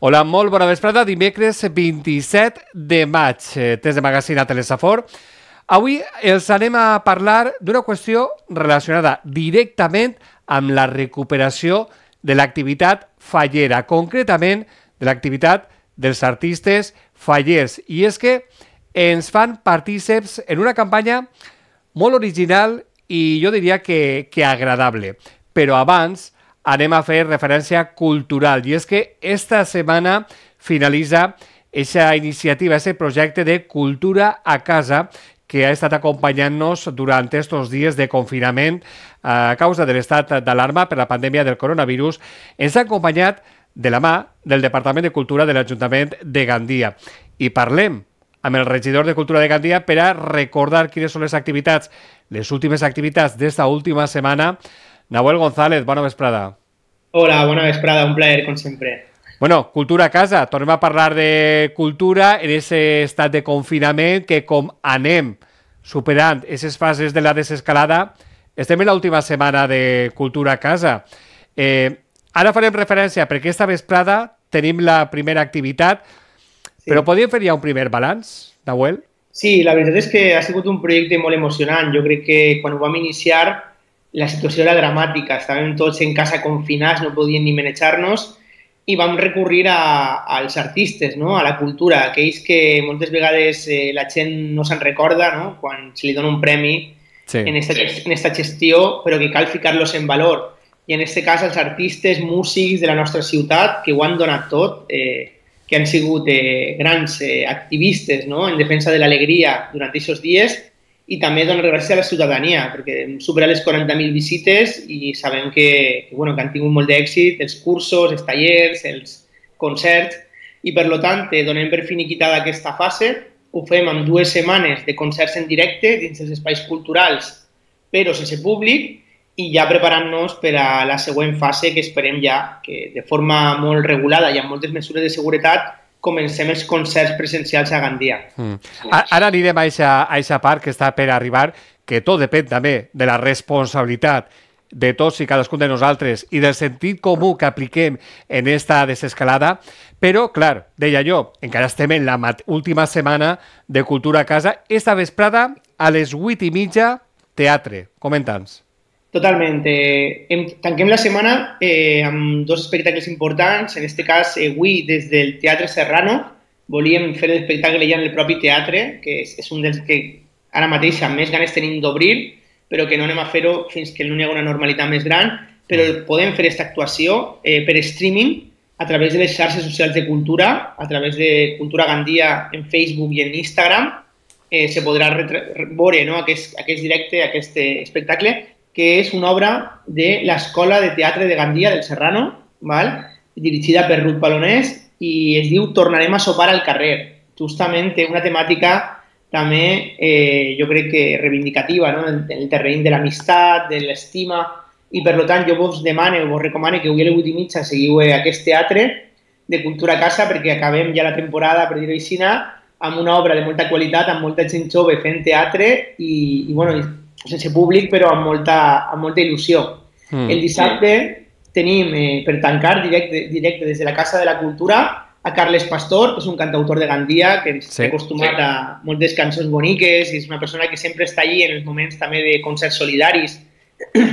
Hola, molt bona vesprada. Dimecres 27 de maig, test de magazine a Telesafor. Avui els anem a parlar d'una qüestió relacionada directament amb la recuperació de l'activitat fallera, concretament de l'activitat dels artistes fallers. I és que ens fan partíceps en una campanya molt original i jo diria que agradable. Però abans anem a fer referència cultural, i és que esta setmana finalitza aquesta iniciativa, aquest projecte de Cultura a Casa, que ha estat acompanyant-nos durant estos dies de confinament a causa de l'estat d'alarma per la pandèmia del coronavirus. Ens ha acompanyat de la mà del Departament de Cultura de l'Ajuntament de Gandia. I parlem amb el regidor de Cultura de Gandia per a recordar quines són les activitats, les últimes activitats d'esta última setmana. Nahuel González, bona vesprada. Hola, bona vesprada, un plaer, com sempre. Bueno, Cultura a Casa, tornem a parlar de cultura en aquest estat de confinament que com anem superant aquestes fases de la desescalada, estem en l'última setmana de Cultura a Casa. Ara farem referència perquè esta vesprada tenim la primera activitat, sí. Però podríem fer ja un primer balanç, Nahuel? Sí, la veritat és que ha sigut un projecte molt emocionant. Jo crec que quan ho vam iniciar la situació era dramàtica, estàvem tots en casa confinats, no podíem ni manejar-nos i vam recurrir als artistes, no? A la cultura, aquells que moltes vegades la gent no se'n recorda, no? Quan se li dona un premi sí. en esta gestió, però que cal ficar-los en valor. I en aquest cas els artistes, músics de la nostra ciutat que ho han donat tot, que han sigut grans activistes, no? En defensa de l'alegria durant aquests dies, i també donar gràcies a la ciutadania, perquè hem superat les 40.000 visites i sabem que han tingut molt d'èxit els cursos, els tallers, els concerts, i per tant donem per finiquitada aquesta fase. Ho fem en 2 setmanes de concerts en directe dins els espais culturals, però sense públic, i ja preparant-nos per a la següent fase, que esperem ja que de forma molt regulada i amb moltes mesures de seguretat comencem els concerts presencials a Gandia. Ara anirem a aquesta part que està per arribar, que tot depèn també de la responsabilitat de tots i cadascun de nosaltres i del sentit comú que apliquem en esta desescalada, però, clar, deia jo, encara estem en la última setmana de Cultura a Casa. Esta vesprada, a les 8:30, teatre. Comenta'ns. Totalment. Tanquem la setmana amb 2 espectacles importants. En aquest cas, avui, des del Teatre Serrano, volíem fer l'espectacle ja en el propi teatre, que és un dels que ara mateix amb més ganes tenim d'obrir, però que no anem a fer-ho fins que no hi hagi una normalitat més gran, però podem fer aquesta actuació per streaming a través de les xarxes socials de cultura, a través de Cultura Gandia en Facebook i en Instagram. Se podrà veure aquest directe, aquest espectacle, que és una obra de l'Escola de Teatre de Gandia del Serrano, dirigida per Ruth Palonès, i es diu Tornarem a sopar al carrer. Justament té una temàtica també, jo crec que reivindicativa, en el terreny de l'amistat, de l'estima, i per tant jo vos demano, vos recomano que avui a les 8:30 seguiu aquest teatre de Cultura a Casa, perquè acabem ja la temporada, per dir-ho així, amb una obra de molta qualitat, amb molta gent jove fent teatre i sense públic, però amb molta il·lusió. El dissabte tenim, per tancar, directe des de la Casa de la Cultura, a Carles Pastor, que és un cantautor de Gandia, que ens ha acostumat a moltes cançons boniques, i és una persona que sempre està allí en els moments també de concerts solidaris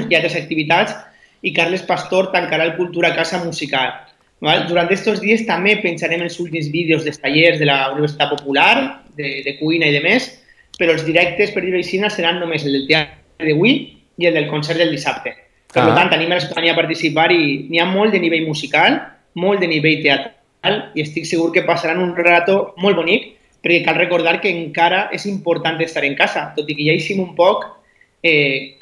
i altres activitats, i Carles Pastor tancarà el Cultura a Casa musical. Durant aquests dies també penjarem els últims vídeos dels tallers de la Universitat Popular, de cuina i de més, però els directes, per dir-ho així, seran només el del teatre d'avui i el del concert del dissabte. Per tant, tenim la ciutadania a participar i n'hi ha molt de nivell musical, molt de nivell teatral, i estic segur que passaran un rato molt bonic, perquè cal recordar que encara és important estar en casa. Tot i que ja eixim un poc,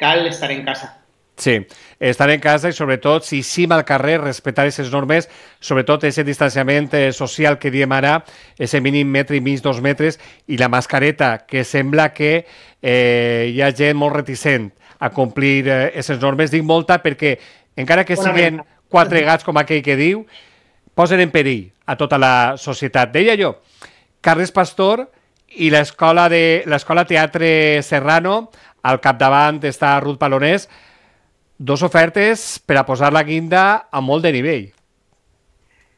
cal estar en casa. Sí, estar en casa i sobretot, si eixim al carrer, respectar aquestes normes, sobretot aquest distanciament social que diem ara, aquest mínim 1,5 metres, 2 metres, i la mascareta, que sembla que hi ha gent molt reticent a complir aquestes normes. Dic molta perquè, encara que siguin 4 gats, com aquell que diu, posen en perill a tota la societat. Deia jo, Carles Pastor i l'Escola Teatre Serrano, al capdavant està Ruth Palonès, 2 ofertes per a posar la guinda a molt de nivell.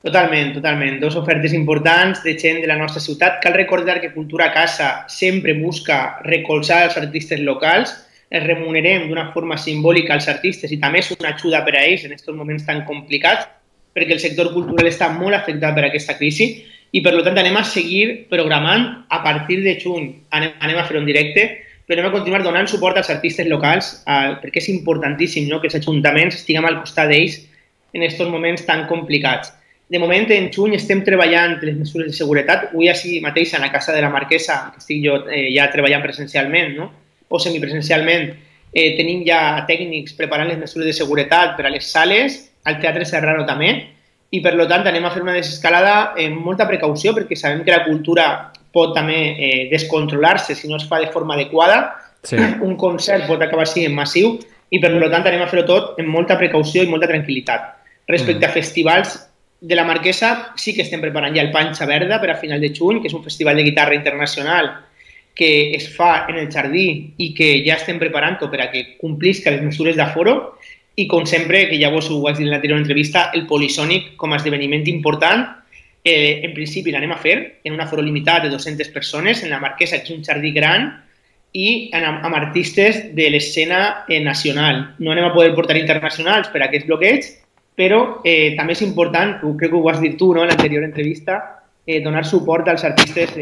Totalment, totalment. Dos ofertes importants de gent de la nostra ciutat. Cal recordar que Cultura a Casa sempre busca recolzar els artistes locals. Els remunerem d'una forma simbòlica als artistes i també és una ajuda per a ells en aquests moments tan complicats, perquè el sector cultural està molt afectat per aquesta crisi i, per tant, anem a seguir programant a partir de juny. Anem a fer un directe, però anem a continuar donant suport als artistes locals perquè és importantíssim, no?, que els ajuntaments estiguem al costat d'ells en aquests moments tan complicats. De moment, en juny estem treballant les mesures de seguretat. Avui, així mateix, a la Casa de la Marquesa, que estic jo ja treballant presencialment, no?, o semipresencialment, tenim ja tècnics preparant les mesures de seguretat per a les sales, al Teatre Serrano també, i per tant anem a fer una desescalada amb molta precaució, perquè sabem que la cultura pot també descontrolar-se si no es fa de forma adequada. Sí. Un concert pot acabar sent massiu i per tant anem a fer-ho tot amb molta precaució i molta tranquil·litat. Respecte a festivals de la Marquesa, sí que estem preparant ja el Panxa Verda per a final de juny, que és un festival de guitarra internacional que es fa en el jardí i que ja estem preparant-ho per a que complisca les mesures d'aforo. I, com sempre, que ja vos ho vaig dir en l'anterior entrevista, el Polisònic com a esdeveniment important, en principi l'anem a fer en un aforo limitat de 200 persones en la Marquesa, que és un jardí gran, i amb artistes de l'escena nacional. No anem a poder portar internacionals per a aquests bloqueig, però també és important, crec que ho vas dir tu, no?, en l'anterior entrevista, donar suport als artistes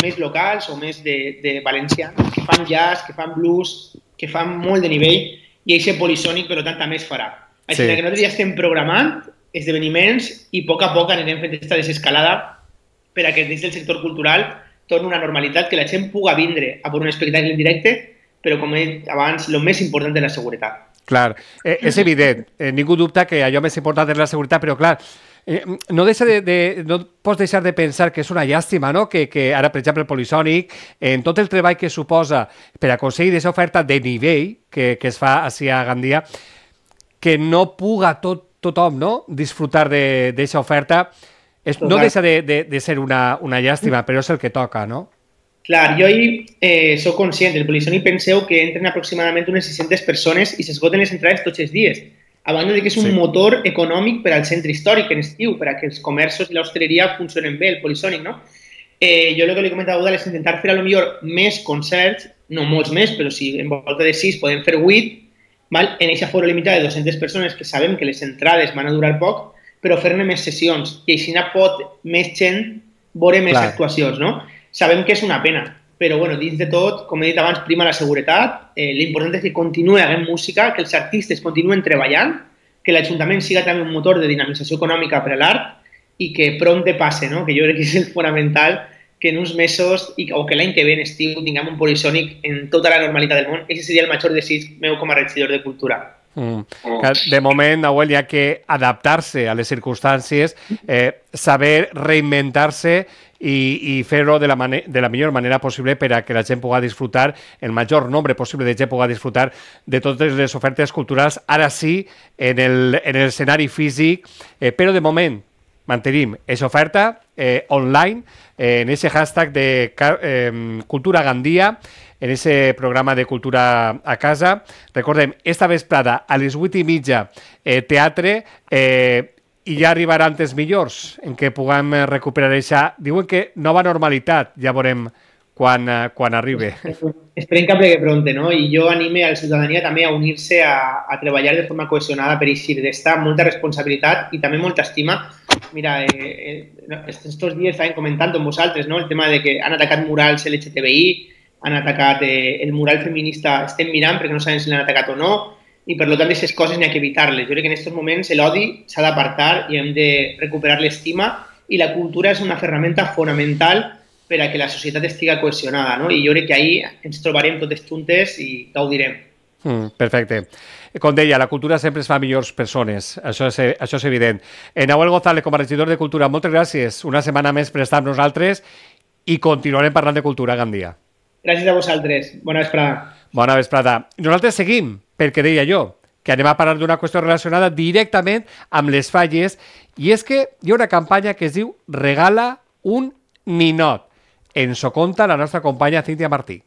més locals o més de valencians, que fan jazz, que fan blues, que fan molt de nivell, i aquest Polisònic, per tant, també es farà. Així que nosaltres ja estem programant esdeveniments i a poc anirem fent aquesta desescalada per a que des del sector cultural torni una normalitat, que la gent pugui vindre a veure un espectacle en directe, però, com he dit abans, el més important és la seguretat. Clar, és evident, ningú dubta que allò més important és la seguretat, però clar, no pots deixar de pensar que és una llàstima, no?, que ara, per exemple, el Polisònic, en tot el treball que suposa per aconseguir aquesta oferta de nivell que es fa així a Gandia, que no puga tothom, no?, disfrutar d'aquesta oferta, no deixa de ser una llàstima, però és el que toca, no? Clar, jo soc conscient, el Polisònic penseu que entren aproximadament unes 600 persones i s'esgoten les entrades tots els dies. A banda de que és un motor econòmic per al centre històric en estiu, per a que els comerços i l'hostaleria funcionen bé, el Polisònic, no? Jo el que li he comentat a Udal és intentar fer a lo millor més concerts, no molts més, però si en volta de 6 podem fer 8, en aquest aforo limitat de 200 persones, que sabem que les entrades van a durar poc, però fer-ne més sessions, i així pot més gent veure més actuacions, no? Sabem que és una pena, però dins de tot, com he dit abans, prima la seguretat. L'important és que continuï havent música, que els artistes continuen treballant, que l'Ajuntament siga també un motor de dinamització econòmica per a l'art i que prompte passe, no?, que jo crec que és el fonamental, que en uns mesos o que l'any que ve en estiu tinguem un Polisònic en tota la normalitat del món. Aquest seria el major desig meu com a regidor de Cultura. De moment, Nahuel, hi ha que adaptar-se a les circumstàncies, saber reinventar-se i fer-ho de la millor manera possible per a que la gent pugui disfrutar, el major nombre possible de gent pugui disfrutar de totes les ofertes culturals, ara sí, en l'escenari físic, però de moment mantenim aquesta oferta online, en aquest hashtag de Cultura Gandia, en aquest programa de Cultura a Casa. Recordem, esta vesprada a les 8:30 teatre, i ja arribaran temps millors en què puguem recuperar això. Diuen que nova normalitat, ja veurem quan arribi. Esperem que plegui pronte, no? I jo anime a la ciutadania també a unir-se a treballar de forma cohesionada per eixir d'esta, molta responsabilitat i també molta estima. Mira, estos dies estàvem comentant amb vosaltres, no?, el tema de que han atacat murals LGTBI, han atacat el mural feminista, estem mirant perquè no sabem si l'han atacat o no, i per tant aquestes coses n'hi ha que evitar-les. Jo crec que en aquests moments l'odi s'ha d'apartar i hem de recuperar l'estima, i la cultura és una ferramenta fonamental per a que la societat estigui cohesionada, no? I jo crec que ahir ens trobarem totes juntes i gaudirem. Perfecte. Com deia, la cultura sempre es fa millors persones, això és evident. Nahuel González, com a regidor de Cultura, moltes gràcies una setmana més per estar amb nosaltres i continuarem parlant de cultura a Gandia. Gràcies a vosaltres. Bona vesprada. Bona vesprada. Nosaltres seguim, perquè deia jo, que anem a parlar d'una qüestió relacionada directament amb les falles, i és que hi ha una campanya que es diu Regala un ninot. Ens ho conta la nostra companya Cíntia Martí.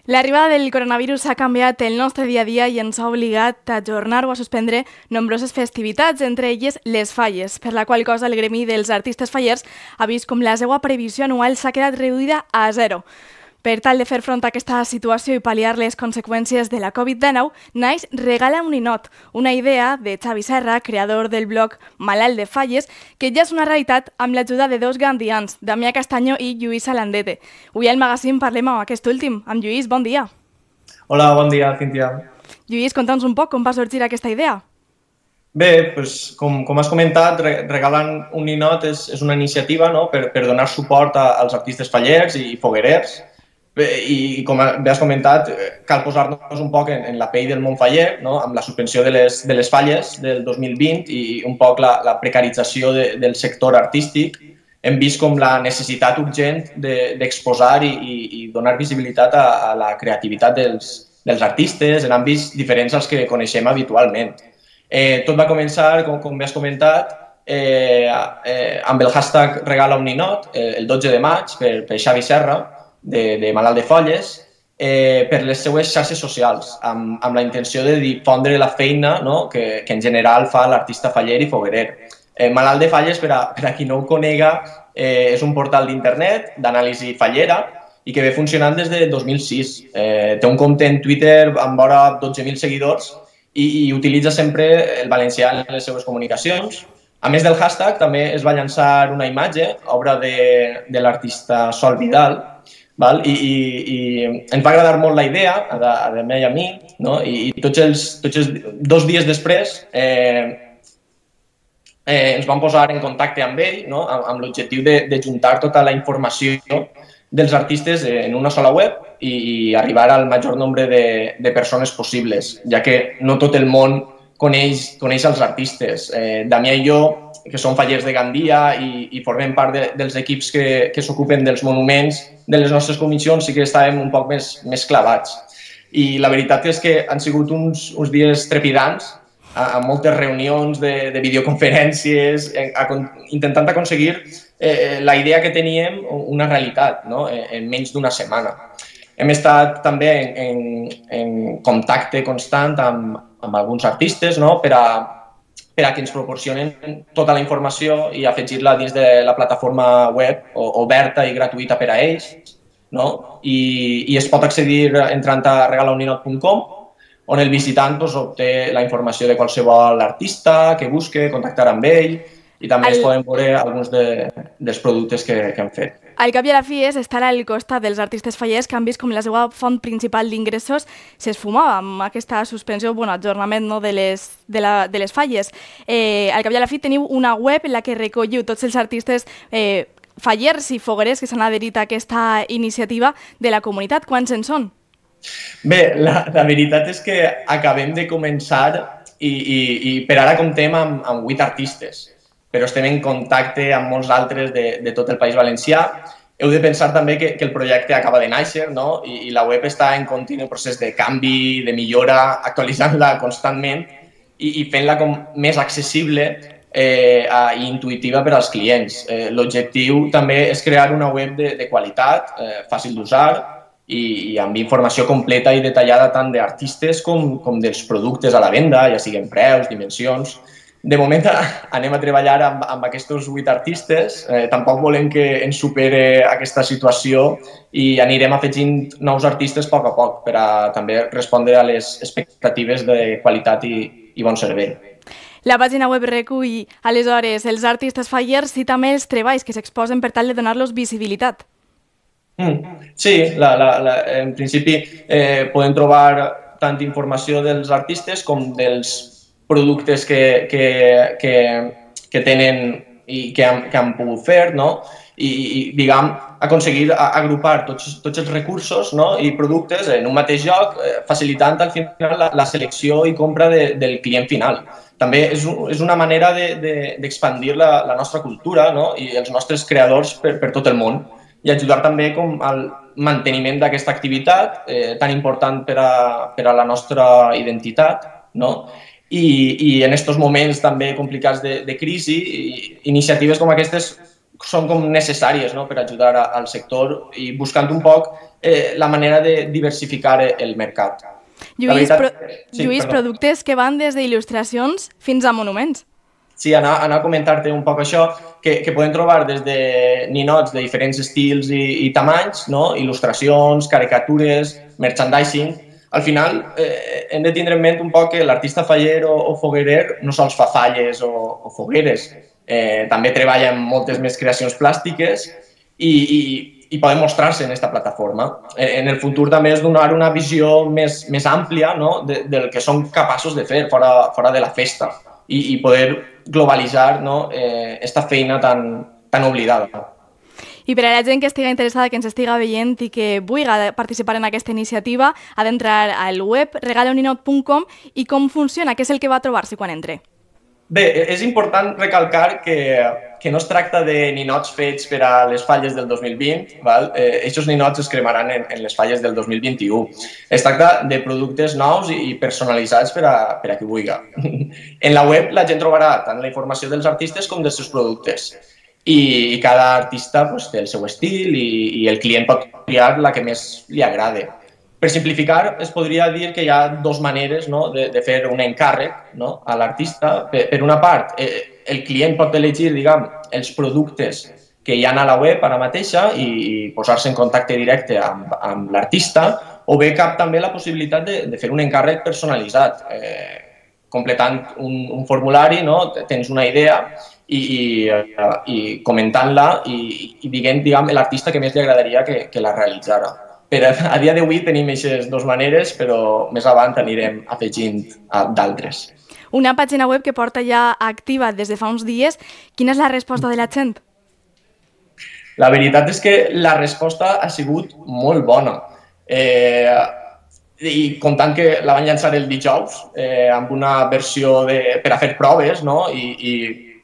L'arribada del coronavirus ha canviat el nostre dia a dia i ens ha obligat a ajornar o a suspendre nombroses festivitats, entre elles les falles, per la qual cosa el gremi dels artistes fallers ha vist com la seva previsió anual s'ha quedat reduïda a zero. Per tal de fer front a aquesta situació i pal·liar les conseqüències de la Covid-19, naix Regala un ninot, una idea de Xavi Serra, creador del blog Malalt de Falles, que ja és una realitat amb l'ajuda de dos gandians, Damià Castanyo i Lluís Alandete. Avui al magazín parlem amb aquest últim. Amb Lluís, bon dia. Hola, bon dia, Cíntia. Lluís, conta'ns un poc com va sorgir aquesta idea. Bé, doncs, com has comentat, Regalant un ninot és una iniciativa, no?, per donar suport als artistes fallers i foguerers. I com bé has comentat, cal posar-nos un poc en la pell del món faller, no?, amb la suspensió de les falles del 2020 i un poc la precarització del sector artístic. Hem vist com la necessitat urgent d'exposar i donar visibilitat a la creativitat dels artistes en àmbits diferents als que coneixem habitualment. Tot va començar, com bé has comentat, amb el hashtag Regala un ninot, el 12 de maig, per Xavi Serra, de Malalt de Falles, per les seues xarxes socials, amb la intenció de difondre la feina, no?, que en general fa l'artista faller i foguerer. Malalt de Falles, per a qui no ho conega, és un portal d'internet d'anàlisi fallera i que ve funcionant des de 2006. Té un compte en Twitter amb vora 12.000 seguidors i utilitza sempre el valencià en les seves comunicacions. A més del hashtag, també es va llançar una imatge, obra de l'artista Sol Vidal, i ens va agradar molt la idea, a mi i a mi, no? I tots els 2 dies després ens vam posar en contacte amb ell, no?, amb l'objectiu de juntar tota la informació dels artistes en una sola web i arribar al major nombre de persones possibles, ja que no tot el món coneix els artistes. Damià i jo, que som fallers de Gandia i formem part dels equips que s'ocupen dels monuments de les nostres comissions, sí que estàvem un poc més clavats. I la veritat és que han sigut uns dies trepidants, amb moltes reunions de videoconferències, intentant aconseguir la idea que teníem una realitat, no?, en menys d'una setmana. Hem estat també en contacte constant amb alguns artistes, no?, per a que ens proporcionen tota la informació i afegir-la dins de la plataforma web oberta i gratuïta per a ells, no? I es pot accedir entrant a regalauninot.com, on el visitant obté la informació de qualsevol artista que busque, contactar amb ell, i també es poden veure alguns dels productes que hem fet. Al cap i a la fi és estar al costat dels artistes fallers que han vist com la seva font principal d'ingressos s'esfumava amb aquesta suspensió, ajornament, no, de les falles. Al cap i a la fi teniu una web en la que recolliu tots els artistes fallers i foguerers que s'han adherit a aquesta iniciativa de la comunitat. Quants en són? Bé, la veritat és que acabem de començar i per ara comptem amb 8 artistes, però estem en contacte amb molts altres de tot el País Valencià. Heu de pensar també que el projecte acaba de néixer, no?, i la web està en continu procés de canvi, de millora, actualitzant-la constantment i fent-la com més accessible i intuïtiva per als clients. L'objectiu també és crear una web de qualitat, fàcil d'usar i amb informació completa i detallada tant d'artistes com dels productes a la venda, ja siguin preus, dimensions. De moment anem a treballar amb aquests 8 artistes, tampoc volem que ens supere aquesta situació i anirem afegint nous artistes a poc per a també respondre a les expectatives de qualitat i bon servei. La pàgina web recull, aleshores, els artistes fallers i també els treballs que s'exposen per tal de donar-los visibilitat. Sí, en principi podem trobar tant informació dels artistes com dels productes que tenen i que han pogut fer, no? I diguem, aconseguir agrupar tots els recursos, no?, i productes en un mateix lloc, facilitant al final la selecció i compra del client final. També és una manera d'expandir la nostra cultura, no?, i els nostres creadors per tot el món i ajudar també com al manteniment d'aquesta activitat tan important per a la nostra identitat, no? I en aquests moments també complicats de crisi, iniciatives com aquestes són com necessàries, no?, per ajudar al sector i buscant un poc la manera de diversificar el mercat. Lluís, productes que van des d'il·lustracions fins a monuments. Sí, anar a comentar-te un poc això, que podem trobar des de ninots de diferents estils i tamanys, no?, il·lustracions, caricatures, merchandising. Al final hem de tindre en ment un poc que l'artista faller o foguerer no sols fa falles o fogueres, també treballa en moltes més creacions plàstiques i poden mostrar-se en aquesta plataforma. En el futur també és donar una visió més àmplia, no?, del que són capaços de fer fora de la festa i poder globalitzar, no?, esta feina tan oblidada. I per a la gent que estigui interessada, que ens estiga veient i que vulgui participar en aquesta iniciativa, ha d'entrar al web regalauninot.com i com funciona, què és el que va trobar-se quan entre? Bé, és important recalcar que no es tracta de ninots fets per a les falles del 2020, val? Aquests ninots es cremaran en les falles del 2021. Es tracta de productes nous i personalitzats per a qui vulgui. En la web la gent trobarà tant la informació dels artistes com dels seus productes. I cada artista té el seu estil i el client pot triar la que més li agrada. Per simplificar, es podria dir que hi ha dues maneres de fer un encàrrec a l'artista. Per una part, el client pot elegir els productes que hi ha a la web ara mateixa i posar-se en contacte directe amb l'artista, o bé cap també la possibilitat de fer un encàrrec personalitzat. Completant un formulari, tens una idea i comentant-la i dient l'artista que més li agradaria que la realitzara. A dia d'avui tenim aquestes dues maneres, però més avant anirem afegint d'altres. Una pàgina web que porta ja activa des de fa uns dies. Quina és la resposta de la gent? La veritat és que la resposta ha sigut molt bona. I comptant que la van llançar el dijous amb una versió per a fer proves,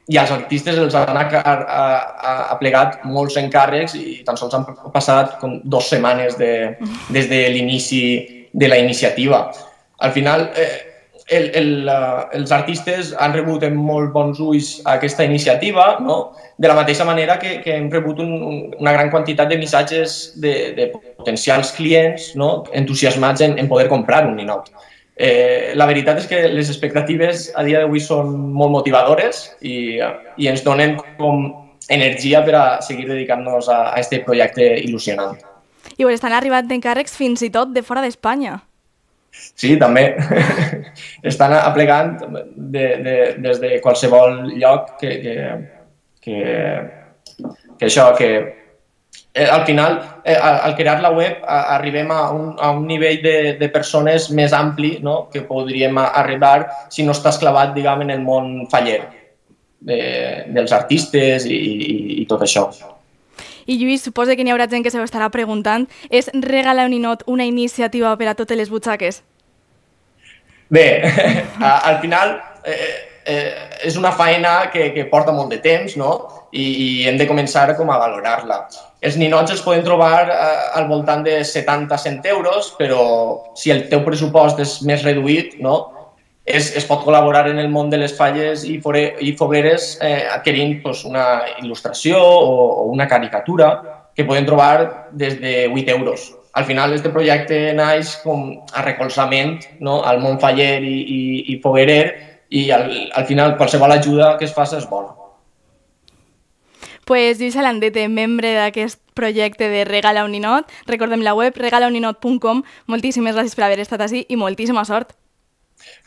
i als artistes els han aplegat molts encàrrecs i tan sols han passat 2 setmanes des de l'inici de la iniciativa. Al final, els artistes han rebut amb molt bons ulls aquesta iniciativa, de la mateixa manera que hem rebut una gran quantitat de missatges de potencials clients entusiasmats en poder comprar un ninot. La veritat és que les expectatives a dia d'avui són molt motivadores i ens donen com energia per a seguir dedicant-nos a aquest projecte il·lusionant. I estan arribant encàrrecs fins i tot de fora d'Espanya. Sí, també. Estan aplegant des de qualsevol lloc que al final, al crear la web, arribem a un nivell de persones més ampli que podríem arribar si no estàs clavat, en el món faller dels artistes i tot això. I Lluís, suposa que n'hi haurà gent que s'ho estarà preguntant. És Regala un ninot una iniciativa per a totes les butxaques? Bé, al final és una feina que porta molt de temps i hem de començar a valorar-la. Els ninots els podem trobar al voltant de 70-100 euros, però si el teu pressupost és més reduït, es pot col·laborar en el món de les falles i fogueres adquirint una il·lustració o una caricatura que podem trobar des de 8 euros. Al final, aquest projecte naix com a recolzament al món faller i foguerer i al final qualsevol ajuda que es faci és bona. Pues Lluís Alandete, membre d'aquest projecte de Regala un ninot. Recordem la web regalauninot.com. Moltíssimes gràcies per haver estat ací i moltíssima sort.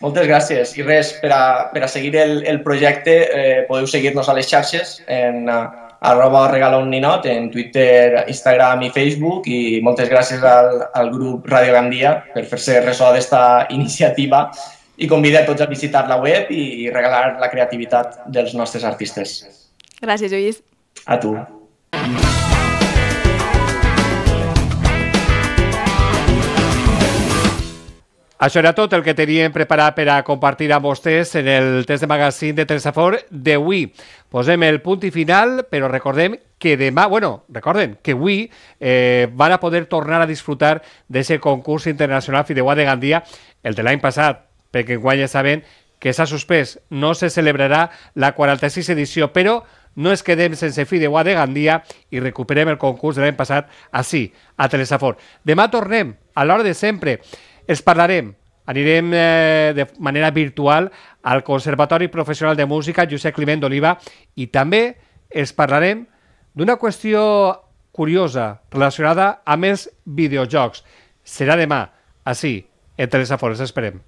Moltes gràcies. I res, per a seguir el projecte podeu seguir-nos a les xarxes en @regalauninot, en Twitter, Instagram i Facebook, i moltes gràcies al grup Radio Gandia per fer-se ressò d'esta iniciativa i convida a tots a visitar la web i regalar la creativitat dels nostres artistes. Gràcies, Lluís. A tu. Això era tot el que teníem preparat per a compartir amb vostès en el test de magazine de Telsafor d'avui. Posem el punt i final, però recordem que demà, recorden que avui van a poder tornar a disfrutar d'aquest concurs internacional Fideuà de Gandia, el de l'any passat, perquè enguany ja saben que s'ha suspès, no se celebrarà la 46 edició, però no ens quedem sense Fideuà de Gandia i recuperem el concurs de l'any passat així, a Telesafor. Demà tornem, a l'hora de sempre. Els parlarem, anirem de manera virtual al Conservatori Professional de Música Josep Climent d'Oliva i també els parlarem d'una qüestió curiosa relacionada amb els videojocs. Serà demà, així, en Telesafor. Els esperem.